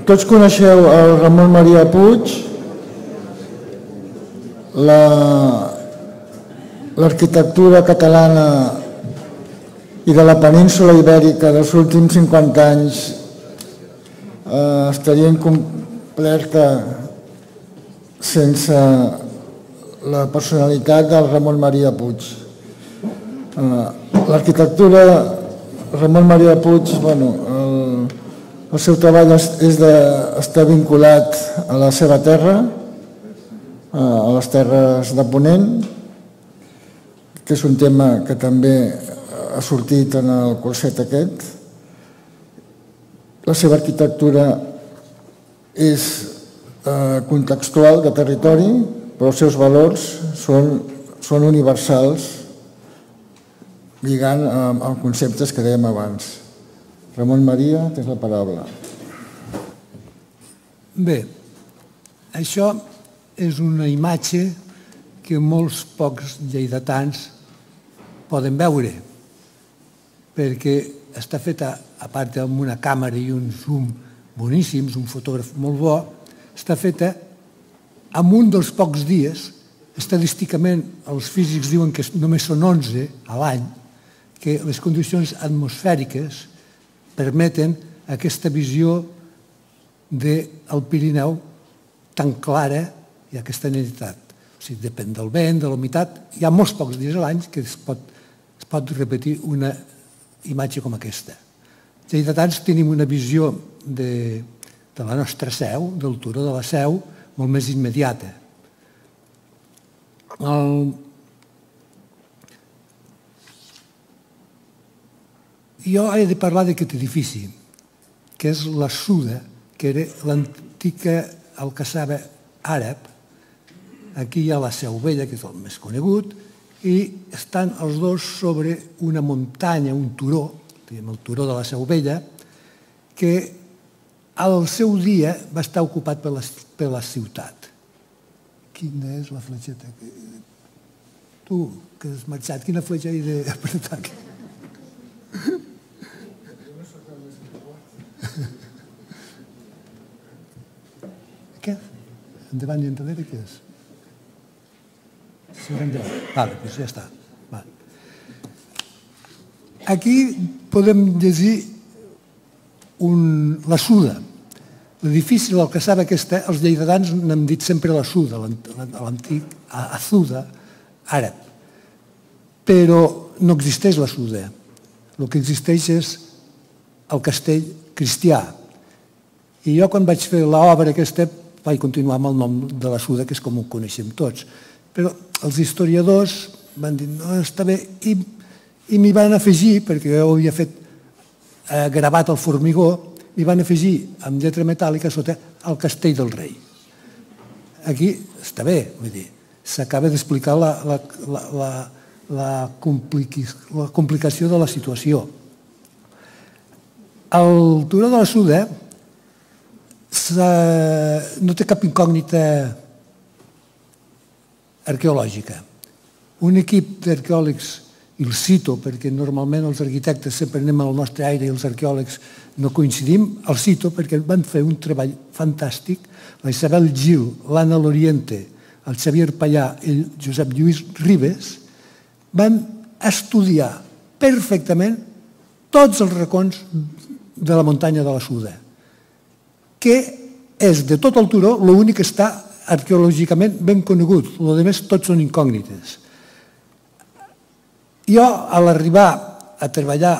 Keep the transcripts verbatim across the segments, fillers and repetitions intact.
Tots coneixeu el Ramon Maria Puig, l'arquitectura catalana i de la península ibèrica dels últims cinquanta anys estaria incompleta sense la personalitat del Ramon Maria Puig. L'arquitectura Ramon Maria Puig, el seu treball està vinculat a la seva terra, a les terres de Ponent, que és un tema que també ha sortit en el curset aquest. La seva arquitectura és contextual, de territori, però els seus valors són universals, lligant amb conceptes que dèiem abans. Ramon Maria, tens la paraula. Bé, això és una imatge que molts pocs lleidatans poden veure, perquè està feta, a part amb una càmera i un zoom boníssims, un fotògraf molt bo, està feta en un dels pocs dies, estadísticament els físics diuen que només són onze a l'any, que les condicions atmosfèriques permeten aquesta visió del Pirineu tan clara i aquesta netitat. O sigui, depèn del vent, de la humitat. Hi ha molts pocs dies a l'any que es pot repetir una imatge com aquesta. Els lleidatans tenim una visió de la nostra seu, del turó de la Seu, molt més immediata. Jo he de parlar d'aquest edifici, que és la Suda, que era l'antica alcassaba àrab. Aquí hi ha la Seu Vella, que és el més conegut, i estan els dos sobre una muntanya, un turó, el turó de la Seu Vella, que al seu dia va estar ocupat per la ciutat. Quina és la fletxeta? Tu, que has marxat, quina fletxa he d'apretar aquí? Què? Endavant i endarrere, què és? Vale, doncs ja està. Aquí podem llegir la Suda. L'edifici de l'alcassaba aquesta, els lleidatans n'hem dit sempre la Suda, l'antic Azuda àrab. Però no existeix la Suda. El que existeix és el castell cristià. I jo quan vaig fer l'obra aquesta vaig continuar amb el nom de la Suda, que és com ho coneixem tots. Però els historiadors van dir, no, està bé, i m'hi van afegir, perquè jo ho havia fet gravat al formigó, m'hi van afegir amb lletra metàl·lica sota el Castell del Rei. Aquí està bé, vull dir, s'acaba d'explicar la complicació de la situació. El turó de la Suda no té cap incògnita arqueològica. Un equip d'arqueòlegs, i el cito perquè normalment els arquitectes sempre anem al nostre aire i els arqueòlegs no coincidim, el cito perquè van fer un treball fantàstic, la Isabel Gil, l'Anna Loriente, el Xavier Pallà i el Josep Lluís Ribes van estudiar perfectament tots els racons de la muntanya de la Suda, que és de tot el turó l'únic que està arqueològicament ben conegut, el rest tots són incògnites. Jo, a l'arribar a treballar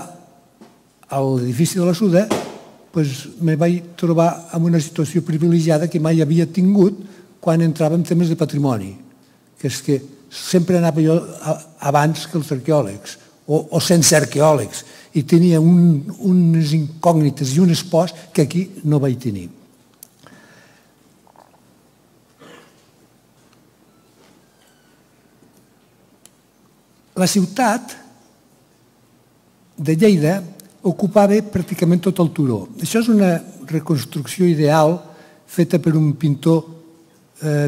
a l'edifici de la Suda, me vaig trobar en una situació privilegiada que mai havia tingut quan entrava en temes de patrimoni, que és que sempre anava jo abans que els arqueòlegs, o sense arqueòlegs, i tenia unes incògnites i un espòs que aquí no vaig tenir. La ciutat de Lleida ocupava pràcticament tot el turó. Això és una reconstrucció ideal feta per un pintor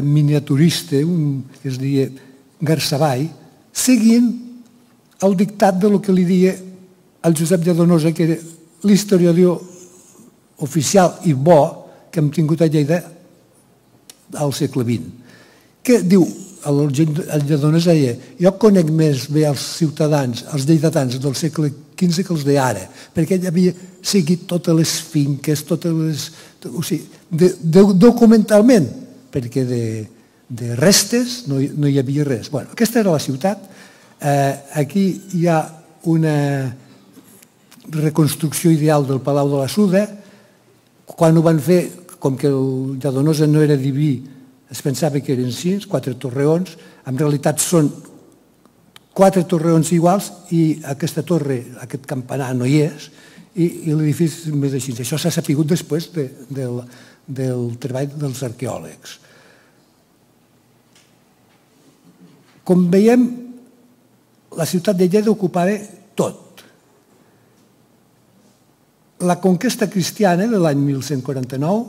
miniaturista, que es deia Garsavall, seguint el dictat del que li deia el Josep Lladonosa, que era l'historiador oficial i bo, que hem tingut a Lleida al segle vint. Que diu, el Lledonès deia, jo conec més bé els ciutadans, els lleidatans del segle quinze que els d'ara, perquè ell havia seguit totes les finques, totes les... O sigui, de, de, documentalment, perquè de, de restes no hi, no hi havia res. Bueno, aquesta era la ciutat. Eh, aquí hi ha una reconstrucció ideal del Palau de la Suda. Quan ho van fer, com que el Lledonós no era diví, es pensava que eren sis, quatre torreons, en realitat són quatre torreons iguals i aquesta torre, aquest campanar no hi és, i, i l'edifici és més així. Això s'ha sapigut després de, del, del treball dels arqueòlegs. Com veiem, la ciutat de Lleida ocupava tot. La conquesta cristiana de l'any mil cent quaranta-nou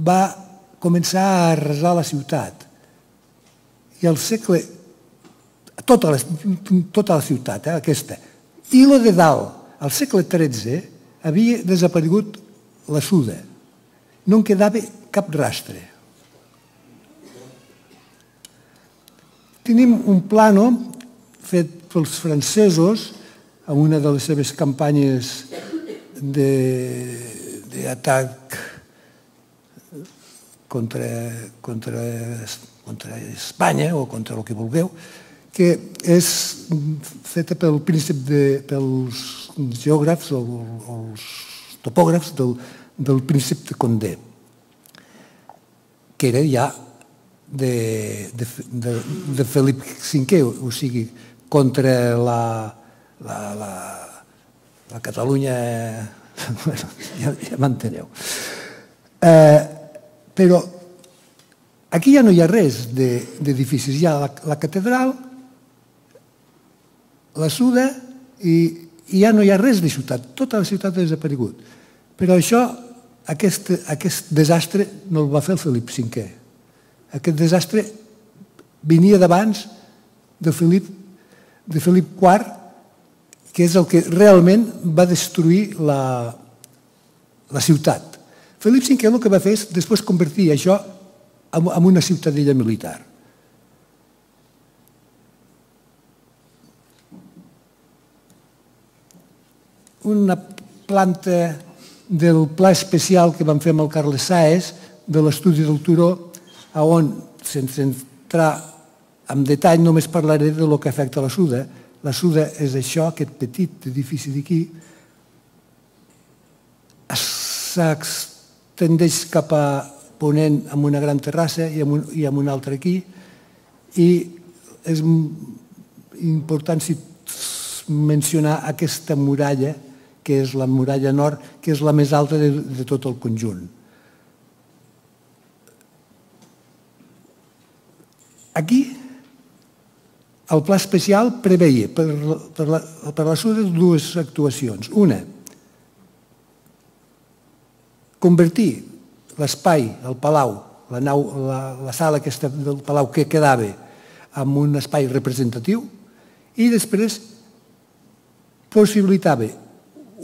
va començar a arrasar la ciutat. I al segle... Tota la, tota la ciutat, eh, aquesta. I la de dalt, al segle tretze, havia desaparegut la Suda. No en quedava cap rastre. Tenim un plano fet pels francesos en una de les seves campanyes d'atac contra, contra, contra Espanya o contra el que vulgueu, que és feta pel príncep de, pels geògrafs o els topògrafs del, del príncep de Condé, que era ja de, de, de, de Felip cinquè, o sigui, contra la, la, la, la Catalunya... Bueno, ja, ja m'enteneu. Eh, però aquí ja no hi ha res d'edificis. Hi ha la, la catedral, la Suda, i, i ja no hi ha res de ciutat. Tota la ciutat ha desaparegut. Però això, aquest, aquest desastre no el va fer el Felip cinquè. Aquest desastre venia d'abans de Felip, de Felip quart, que és el que realment va destruir la, la ciutat. Felip cinquè el que va fer és després convertir això en una ciutadella militar. Una planta del pla especial que vam fer amb el Carles Sáez, de l'estudi del Turó, on, sense entrar en detall, només parlaré de lo que afecta la Suda. La Suda és això, aquest petit edifici d'aquí, s'extendeix cap a ponent amb una gran terrassa i amb, un, i amb una altra aquí, i és important mencionar aquesta muralla, que és la muralla nord, que és la més alta de, de tot el conjunt. Aquí, el pla especial preveia per, per, la, per la Suda dues actuacions. Una, convertir l'espai, el palau, la, nau, la, la sala aquesta del palau que quedava en un espai representatiu, i després possibilitava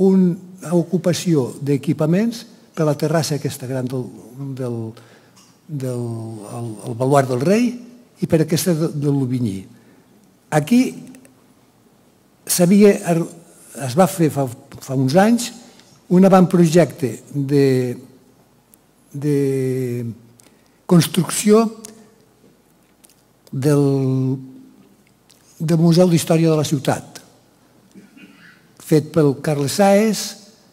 una ocupació d'equipaments per la terrassa aquesta gran del, del, del el, el baluard del rei i per aquesta de, de l'Ovinyí. Aquí es va fer fa, fa uns anys un avantprojecte de, de construcció del, del Museu d'Història de la Ciutat, fet pel Carles Sáez,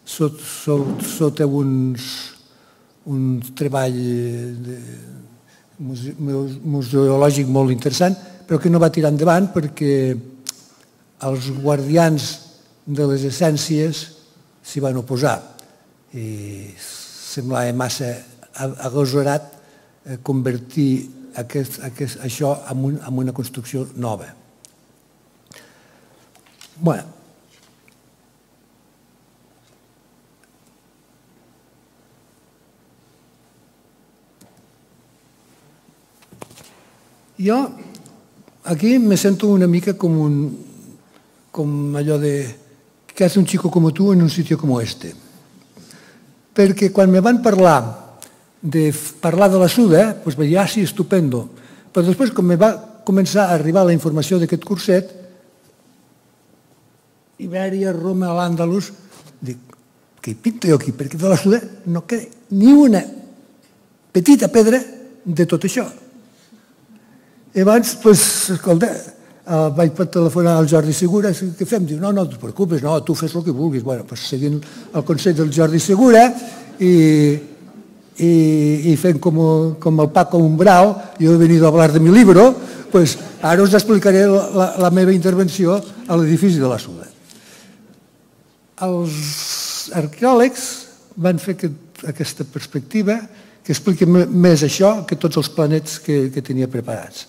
sot, sot, sota uns, un treball de, museològic molt interessant, però que no va tirar endavant perquè els guardians de les essències s'hi van oposar i semblava massa agosarat convertir aquest, aquest, això en, un, en una construcció nova. Bueno, jo aquí me sento una mica com un, com allò de ¿qué hace un chico como tú en un sitio como este? perquè quan me van parlar de parlar de la Suda, doncs vaig dir, ah, sí, estupendo. Però després, quan me va començar a arribar la informació d'aquest curset, Ibèria, Roma, l'Àndalus, dic, què hi pinto jo aquí? Perquè de la Suda no queda ni una petita pedra de tot això. I abans, doncs, escolta, vaig telefonar al Jordi Segura, què fem? Diu, no, no, no et preocupes, no, tu fes el que vulguis. Bueno, doncs seguint el consell del Jordi Segura i, i, i fent com, com el Paco Umbral, jo he venido a hablar de mi libro, pues ara us explicaré la, la meva intervenció a l'edifici de la Suda. Els arqueòlegs van fer aquest, aquesta perspectiva que explica més això que tots els planets que, que tenia preparats.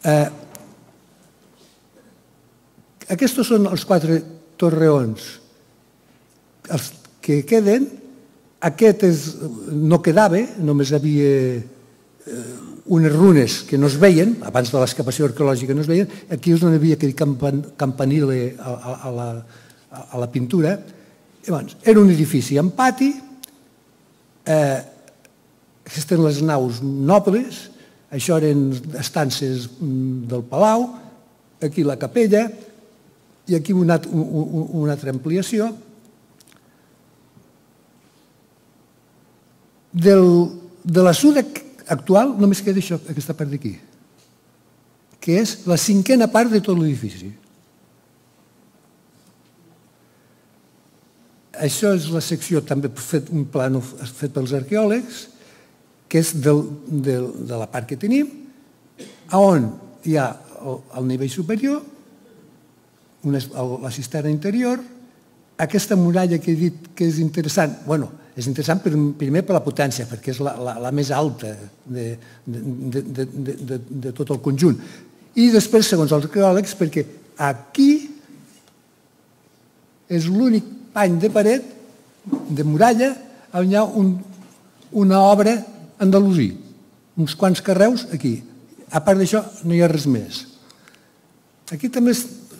Eh, aquests són els quatre torreons. Els que queden, aquest és, no quedava, només hi havia eh, unes runes que no es veien, abans de l'excavació arqueològica no es veien, aquí és on havia aquest campan, campanile a, a, a, la, a la pintura. Llavors, era un edifici amb pati, eh, aquestes eren les naus nobles, això eren estances del palau, aquí la capella, i aquí una, una, una altra ampliació. Del, de la Suda actual només queda això, aquesta part d'aquí, que és la cinquena part de tot l'edifici. Això és la secció, també fet un plano fet pels arqueòlegs, que és del, del, de la part que tenim, on hi ha el, el nivell superior, una, la cisterna interior, aquesta muralla que he dit que és interessant, bueno, és interessant per, primer per la potència, perquè és la, la, la més alta de, de, de, de, de, de tot el conjunt. I després, segons els arqueòlegs, perquè aquí és l'únic pany de paret, de muralla, on hi ha un, una obra andalusí, uns quants carreus aquí. A part d'això, no hi ha res més. Aquí també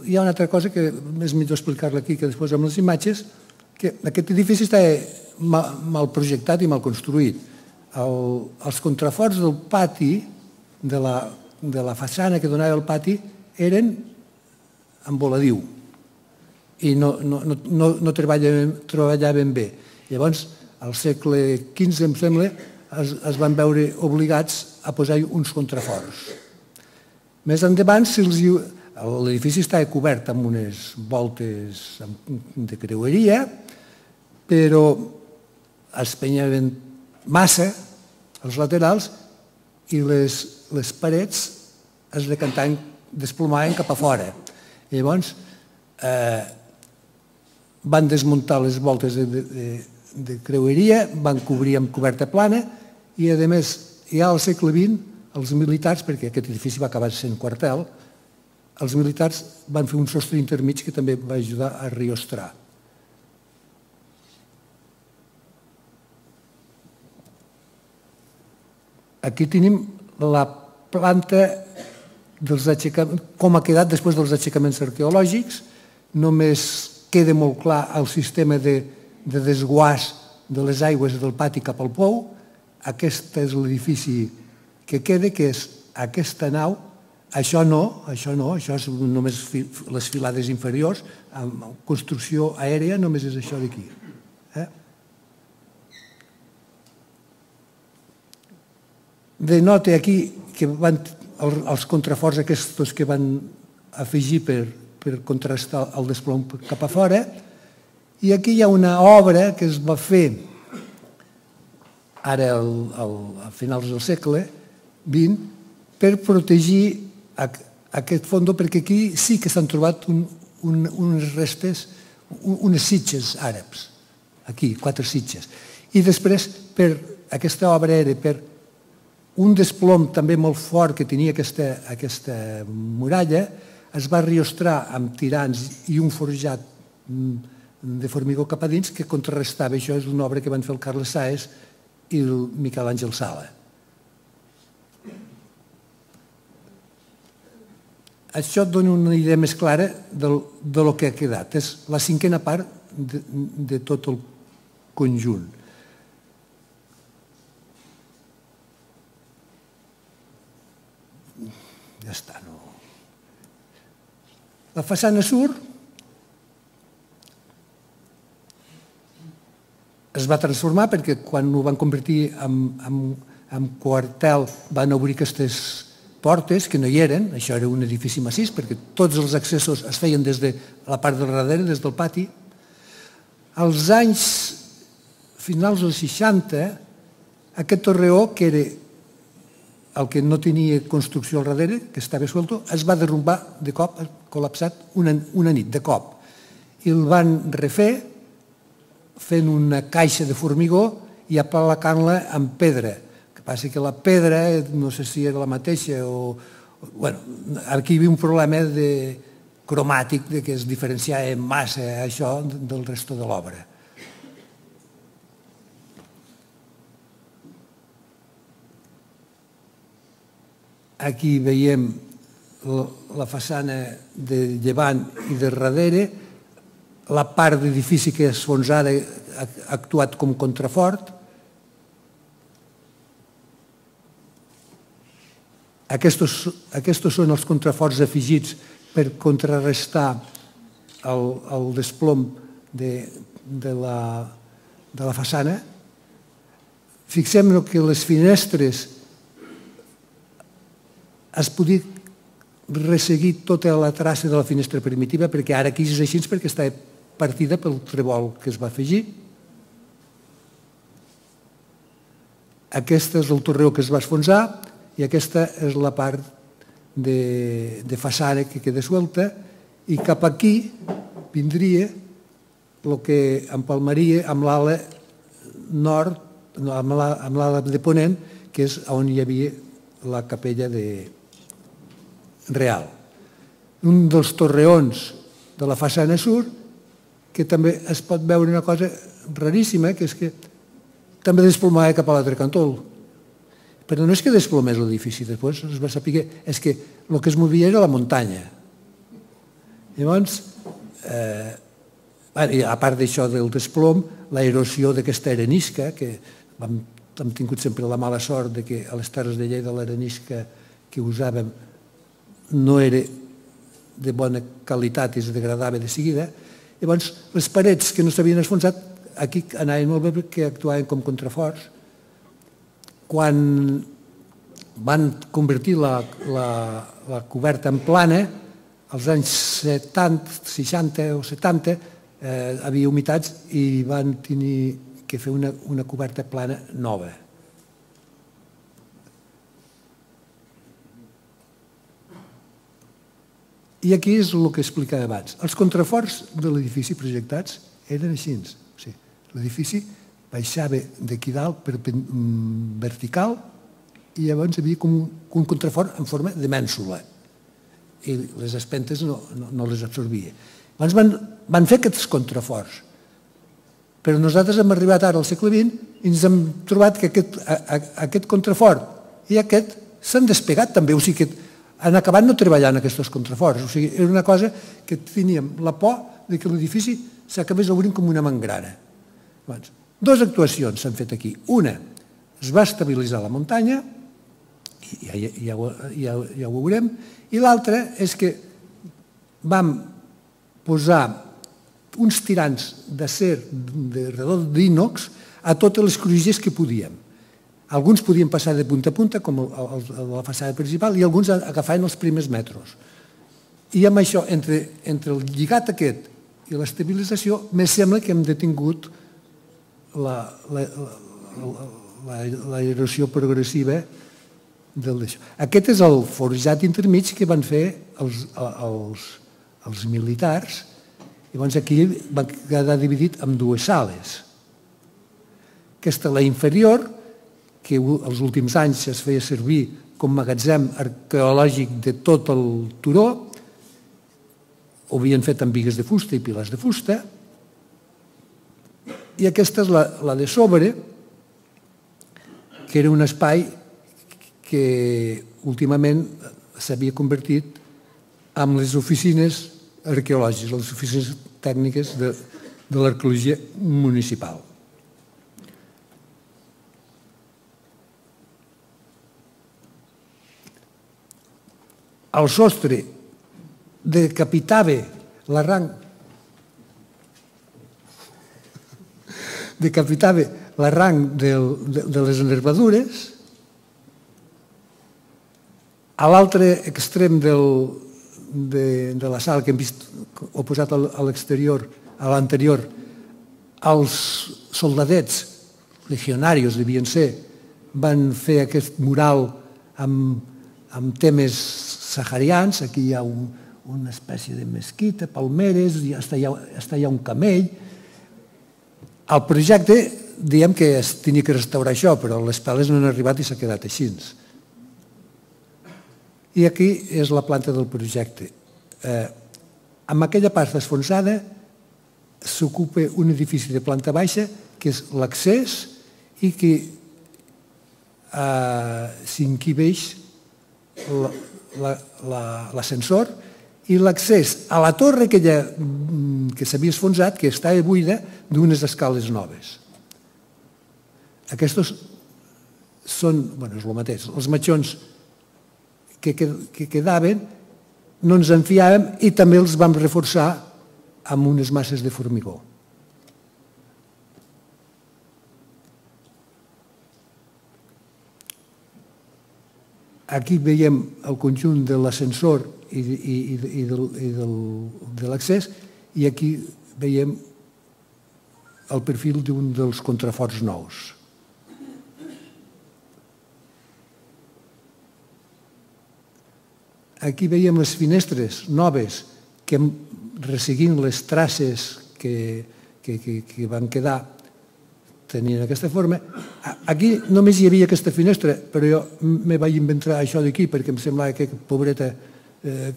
hi ha una altra cosa que és millor explicar-la aquí que després amb les imatges, que aquest edifici està mal, mal projectat i mal construït. El, els contraforts del pati, de la, de la façana que donava el pati, eren amb voladiu i no, no, no, no treballaven, treballaven bé. Llavors, al segle quinze, em sembla, es, es van veure obligats a posar uns contraforts. Més endavant, si els, l'edifici estava cobert amb unes voltes de creueria, però es penyaven massa als laterals i les, les parets es decantaven, desplomaven cap a fora. I llavors eh, van desmuntar les voltes de, de, de creueria, van cobrir amb coberta plana i, a més, ja al segle vint, els militars, perquè aquest edifici va acabar sent quartel, els militars van fer un sostre intermig que també va ajudar a riostrar. Aquí tenim la planta dels aixecaments, com ha quedat després dels aixecaments arqueològics. Només queda molt clar el sistema de, de desguàs de les aigües del pati cap al pou. Aquest és l'edifici que queda, que és aquesta nau. Això no, això no, això és només les filades inferiors. Amb construcció aèria només és això d'aquí. Eh? Denota aquí que van, els contraforts aquests que van afegir per, per contrastar el desplom cap a fora, i aquí hi ha una obra que es va fer ara al, al, a finals del segle vint per protegir aquest fondo, perquè aquí sí que s'han trobat un, un, unes restes, un, unes sitges àrabs, aquí, quatre sitges. I després, per aquesta obra era per un desplom també molt fort que tenia aquesta, aquesta muralla, es va riostrar amb tirants i un forjat de formigó cap a dins que contrarrestava. Això és una obra que van fer el Carles Sáez i el Miquel Àngel Sala. Això et dona una idea més clara del, de lo que ha quedat. És la cinquena part de, de tot el conjunt. Ja està, no... La façana sur es va transformar perquè quan ho van convertir en quartel van obrir aquestes portes que no hi eren, això era un edifici massís perquè tots els accessos es feien des de la part del darrere, des del pati. Als anys finals dels seixanta, aquest torreó, que era el que no tenia construcció al darrere, que estava suelto, es va derrumbar de cop, col·lapsat una nit, de cop. I el van refer fent una caixa de formigó i apalacant-la amb pedra. El que passa que la pedra, no sé si era la mateixa o... Bueno, aquí hi havia un problema cromàtic que es diferenciava massa això del resto de l'obra. Aquí veiem la façana de llevant i de darrere, la part d'edifici que és enfonsada ha actuat com contrafort. Aquests són els contraforts afegits per contrarrestar el desplom de la façana. Fixem-nos que les finestres es podia resseguir tota la traça de la finestra primitiva perquè ara aquí és així perquè està partida pel trebol que es va afegir. Aquest és el torreó que es va enfonsar i aquesta és la part de façana que queda suelta i cap aquí vindria el que empalmaria amb l'ala nord, amb l'ala de ponent, que és on hi havia la capella real. Un dels torreons de la façana sur, que també es pot veure una cosa raríssima, que és que també desplomava cap a l'altre cantó. Però no és que desplomés l'edifici, després es va saber que és que el que es movia era la muntanya. Llavors, a part d'això del desplom, l'aerosió d'aquesta arenisca, que hem tingut sempre la mala sort que a les Terres de Lleida l'arenisca que usàvem no era de bona qualitat i es degradava de seguida. Llavors, les parets que no s'havien enfonsat, aquí anaven molt bé perquè actuaven com contraforts. Quan van convertir la coberta en plana, als anys seixanta o setanta, hi havia humitats i van tenir que fer una coberta plana nova. I aquí és el que explicava abans. Els contraforts de l'edifici projectats eren així. L'edifici baixava d'aquí dalt vertical i llavors hi havia com un contrafort en forma de mènsula i les espentes no les absorbia. Llavors van fer aquests contraforts, però nosaltres hem arribat ara al segle vint i ens hem trobat que aquest contrafort i aquest s'han despegat també, o sigui que han acabat no treballant aquests contraforts. O sigui, era una cosa que teníem la por que l'edifici s'acabés obrint com una mangrana. Dues actuacions s'han fet aquí. Una, es va estabilitzar la muntanya, ja ho veurem, i l'altra és que vam posar uns tirants d'acer de redó d'ínox a totes les crugies que podíem. Alguns podien passar de punta a punta, com la façana principal, i alguns agafaven els primers metres. I amb això, entre el lligat aquest i l'estabilització, me sembla que hem detingut l'erosió progressiva del d'això. Aquest és el forjat intermig que van fer els militars. Llavors aquí va quedar dividit en dues sales. Aquesta, la inferior, que els últims anys es feia servir com magatzem arqueològic de tot el turó, ho havien fet amb bigues de fusta i pilars de fusta, i aquesta és la de sobre, que era un espai que últimament s'havia convertit en les oficines arqueològiques, les oficines tècniques de l'arqueologia municipal. el sostre decapitava l'arranc decapitava l'arranc de les nervadures. A l'altre extrem de la sala que hem vist oposat a l'exterior, a l'anterior, els soldadets legionaris devien ser, van fer aquest mural amb temes saharians. Aquí hi ha una espècie de mesquita, palmeres, i està allà un camell. El projecte, diem que es tenia que restaurar això, però les peles no han arribat i s'ha quedat així. I aquí és la planta del projecte. Amb aquella part desfonsada s'ocupa un edifici de planta baixa, que és l'accés, i que s'hi encabeix l'ascensor i l'accés a la torre que s'havia esfonsat, que estava buida, d'unes escales noves. Aquests són, bueno, és el mateix, els matxons que quedaven no ens en fiàvem i també els vam reforçar amb unes masses de formigó. Aquí veiem el conjunt de l'ascensor i de l'accés, i aquí veiem el perfil d'un dels contraforts nous. Aquí veiem les finestres noves que, resseguint les traces que van quedar, tenien aquesta forma. Aquí només hi havia aquesta finestra, però jo me vaig inventar això d'aquí perquè em semblava que pobreta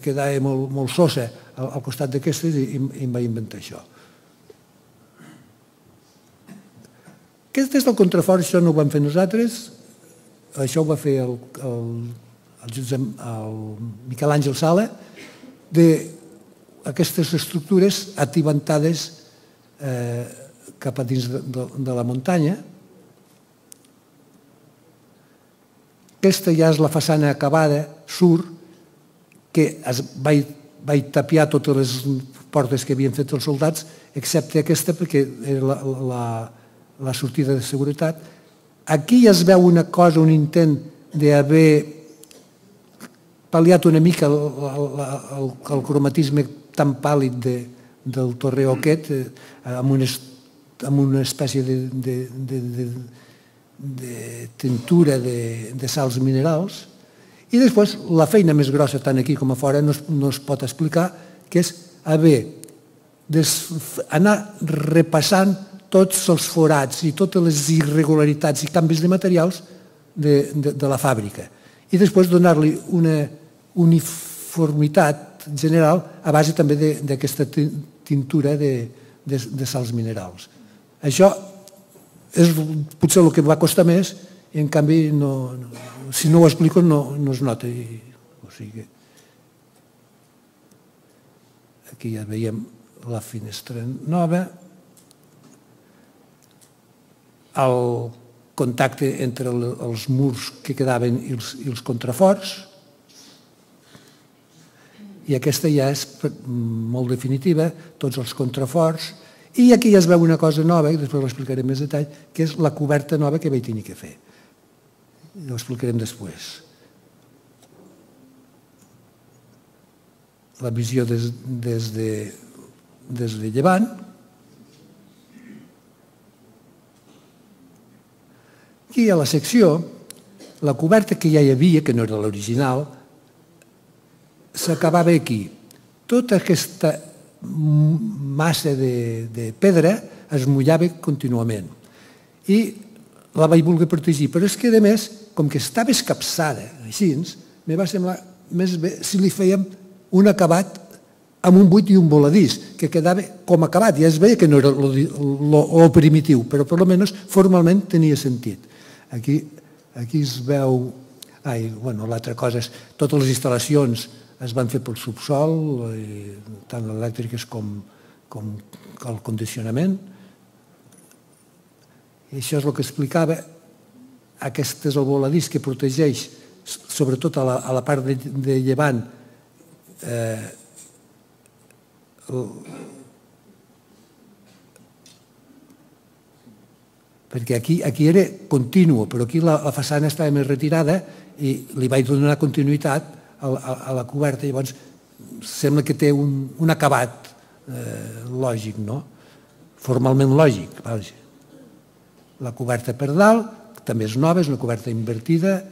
quedava molt sosa al costat d'aquestes i em vaig inventar això. Aquest és el contrafort, això no ho vam fer nosaltres, això ho va fer el Miquel Àngel Sala, d'aquestes estructures atibantades cap a dins de la muntanya. Aquesta ja és la façana acabada, sur, que vaig tapiar totes les portes que havien fet els soldats, excepte aquesta perquè era la sortida de seguretat. Aquí ja es veu una cosa, un intent d'haver pal·liat una mica el cromatisme tan pàl·lid del torreó aquest, amb una espècie de tintura de sals minerals. I després la feina més grossa, tant aquí com a fora, no es pot explicar, que és haver d'anar repassant tots els forats i totes les irregularitats i canvis de materials de la fàbrica. I després donar-li una uniformitat general a base també d'aquesta tintura de sals minerals. Això és potser el que va costar més i en canvi si no ho explico no es nota. Aquí ja veiem la finestra nova, el contacte entre els murs que quedaven i els contraforts, i aquesta ja és molt definitiva, tots els contraforts, i aquí ja es veu una cosa nova, i després l'explicaré en més detall, que és la coberta nova que vaig tenir que fer. Ho explicarem després. La visió des de llevant. Aquí a la secció, la coberta que ja hi havia, que no era l'original, s'acabava aquí. Tota aquesta massa de pedra es mullava contínuament. I la vaig voler protegir, però és que, a més, com que estava escapçada així, me va semblar més bé si li fèiem un acabat amb un buit i un voladís, que quedava com acabat. Ja es veia que no era el primitiu, però per almenys formalment tenia sentit. Aquí es veu... L'altra cosa és totes les instal·lacions es van fer pel subsol, tant elèctriques com el condicionament. I això és el que explicava. Aquest és el voladís que protegeix, sobretot a la part de llevant, perquè aquí era continu, però aquí la façana estava més retirada i li vaig donar continuïtat a la coberta. Llavors sembla que té un acabat lògic, formalment lògic. La coberta per dalt també és nova, és una coberta invertida.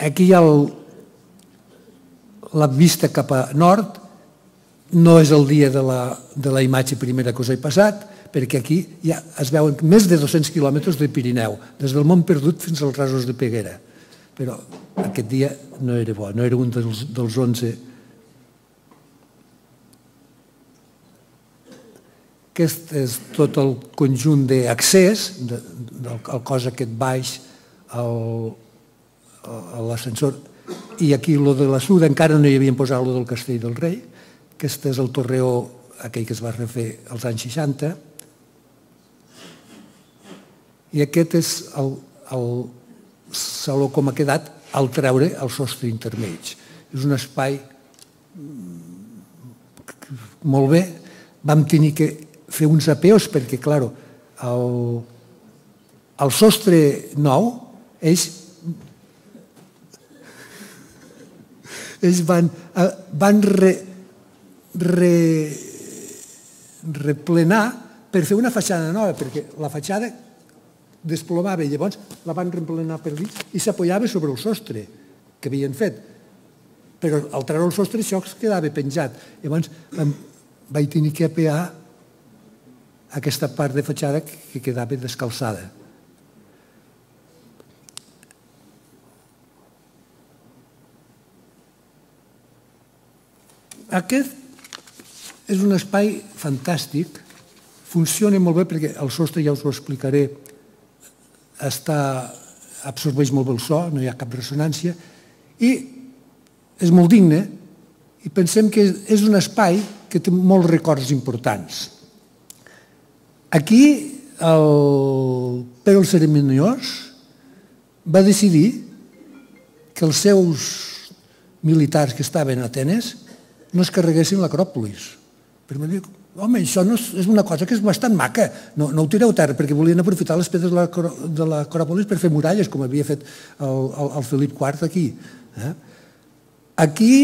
Aquí hi ha la vista cap a nord. No és el dia de la imatge primera que us he passat, perquè aquí ja es veuen més de dos-cents quilòmetres de Pirineu, des del Mont Perdut fins als Rasos de Peguera. Però aquest dia no era bo, no era un dels onze. Aquest és tot el conjunt d'accés, del cos aquest baix a l'ascensor. I aquí, el de la Suda, encara no hi havien posat el del Castell del Rei. Aquest és el torreó, aquell que es va refer als anys seixanta. I aquest és el saló com ha quedat al treure el sostre intermig. És un espai molt bé. Vam tenir que fer uns apeus perquè, clar, el sostre nou, ells ells van replenar per fer una fatxada nova, perquè la fatxada desplomava i llavors la van replenar per dins i s'apoyava sobre el sostre que havien fet. Però al treure el sostre això es quedava penjat. Llavors vaig tenir que apear aquesta part de fatxada que quedava descalçada. Aquest és un espai fantàstic, funciona molt bé perquè el sostre, ja us ho explicaré, absorbeix molt bé el so, no hi ha cap ressonància, i és molt digne, i pensem que és un espai que té molts records importants. Aquí el Pere el Cerimoniós va decidir que els seus militars que estaven a Atenes no es carreguessin l'Acròpolis. Però em va dir, home, això és una cosa que és bastant maca, no ho tireu a terra, perquè volien aprofitar les pedres de l'Acròpolis per fer muralles, com havia fet el Felip quart aquí. Aquí,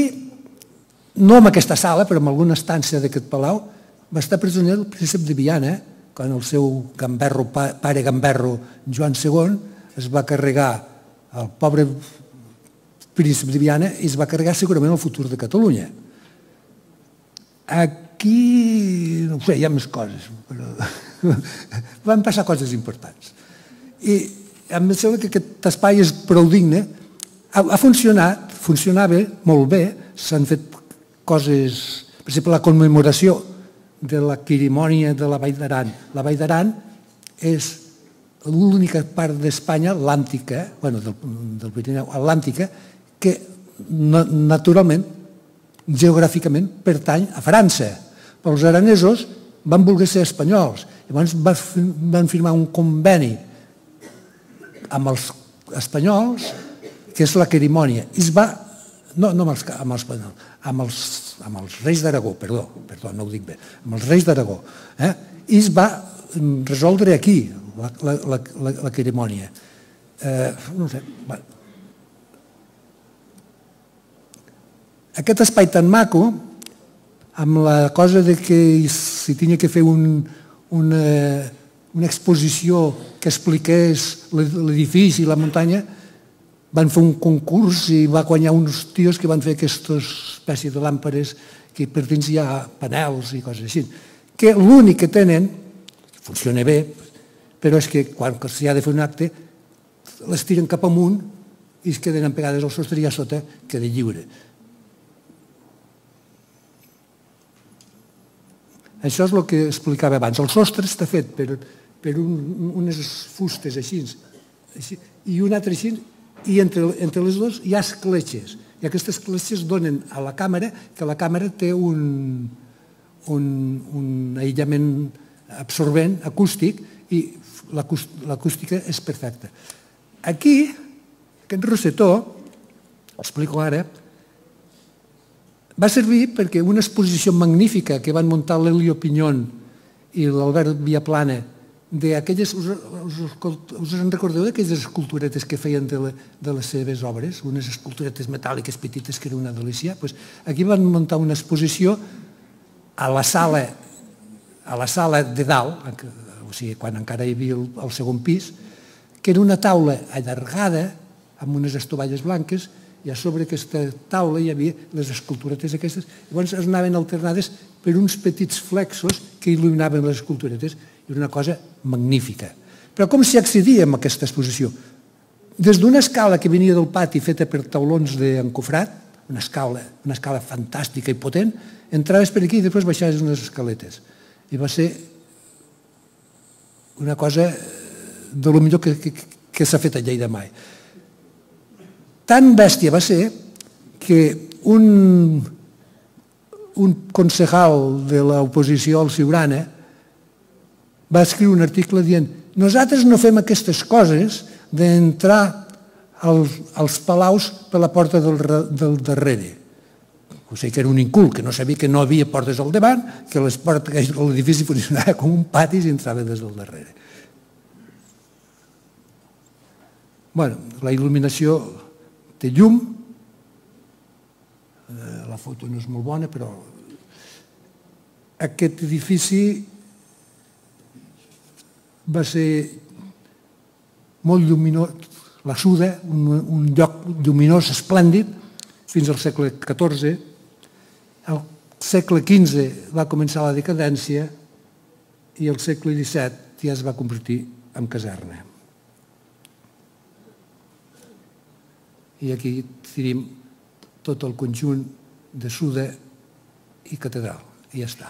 no en aquesta sala, però en alguna estància d'aquest palau, va estar presoner el príncep de Viana, quan el seu gamberro, pare gamberro, Joan segon, es va carregar el pobre príncep de Viana i es va carregar segurament el futur de Catalunya. Aquí, no ho sé, hi ha més coses, però van passar coses importants. I em sembla que aquest espai és prou digne, ha funcionat, funcionava molt bé, s'han fet coses, per exemple, la commemoració de la cerimònia de la Vall d'Aran. La Vall d'Aran és l'única part d'Espanya atlàntica, bueno, del Pirineu, atlàntica, que naturalment, geogràficament, pertany a França. Però els aranesos van voler ser espanyols. Llavors van firmar un conveni amb els espanyols, que és la cerimònia. I es va... No amb els espanyols, amb els reis d'Aragó, perdó, perdó, no ho dic bé, amb els reis d'Aragó. I es va resoldre aquí, la cerimònia. No sé... Aquest espai tan maco, amb la cosa que si tenia que fer una exposició que expliqués l'edifici i la muntanya, van fer un concurs i va guanyar uns tios que van fer aquesta espècie de làmperes que per dins hi ha panels i coses així. Que l'únic que tenen, funciona bé, però és que quan s'hi ha de fer un acte, les tiren cap amunt i es queden empegades al sostre i a sota queda lliure. Això és el que explicava abans. El sostre està fet per unes fustes així i un altre així, i entre les dues hi ha escletxes. I aquestes escletxes donen a la càmera, que la càmera té un aïllament absorbent, acústic, i l'acústica és perfecta. Aquí Aquest rosetó, explico ara, va servir perquè una exposició magnífica que van muntar l'Elio Pinyón i l'Albert Viaplana d'aquelles, us, us, us en recordeu d'aquelles esculturetes que feien de, la, de les seves obres, unes esculturetes metàl·liques petites que era una delícia? Pues aquí van muntar una exposició a la sala, a la sala de dalt, o sigui, quan encara hi havia el, el segon pis, que era una taula allargada amb unes estovalles blanques, i a sobre aquesta taula hi havia les esculturetes aquestes, llavors es anaven alternades per uns petits flexos que il·luminaven les esculturetes, i era una cosa magnífica. Però com s'hi accedia a aquesta exposició? Des d'una escala que venia del pati feta per taulons d'encofrat, una escala, una escala fantàstica i potent, entraves per aquí i després baixaves unes escaletes. I va ser una cosa de lo millor que, que, que s'ha fet a Lleida mai. Tan bèstia va ser que un, un concejal de l'oposició al Siurana va escriure un article dient nosaltres no fem aquestes coses d'entrar als, als palaus per la porta del, del darrere. O sigui que era un incult, que no sabia que no havia portes al davant, que l'edifici funcionava com un pati i s'entrava des del darrere. Bueno, la il·luminació té llum, la foto no és molt bona, però aquest edifici va ser molt lluminós, la Suda, un lloc lluminós, esplèndid, fins al segle catorze. Al segle quinze va començar la decadència i al segle disset ja es va convertir en caserna. I aquí tenim tot el conjunt de Suda i catedral. I ja està.